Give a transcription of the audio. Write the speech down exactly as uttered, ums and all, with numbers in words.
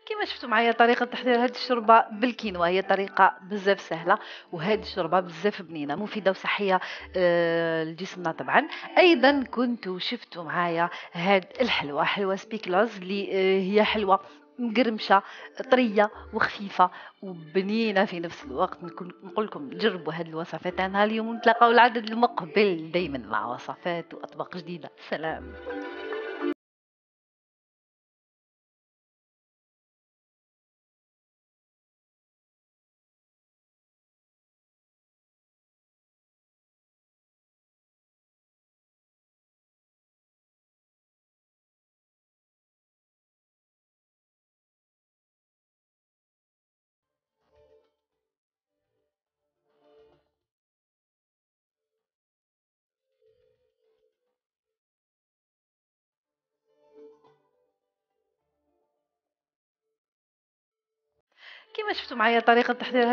كيما شفتوا معايا طريقة تحضير هذه الشوربة بالكينوا، هي طريقة بزاف سهلة، وهذه الشوربة بزاف بنينة مفيدة وصحية آه، لجسمنا طبعا. أيضا كنتوا شفتوا معايا هاد الحلوة، حلوة سبيكلوز اللي آه، هي حلوة مقرمشة طرية وخفيفة وبنينة في نفس الوقت. نكون نقول لكم جربوا هذه الوصفات. أنا اليوم نتلاقاو العدد المقبل دايما مع وصفات وأطباق جديدة. سلام. كيما شفتوا معايا طريقة تحضير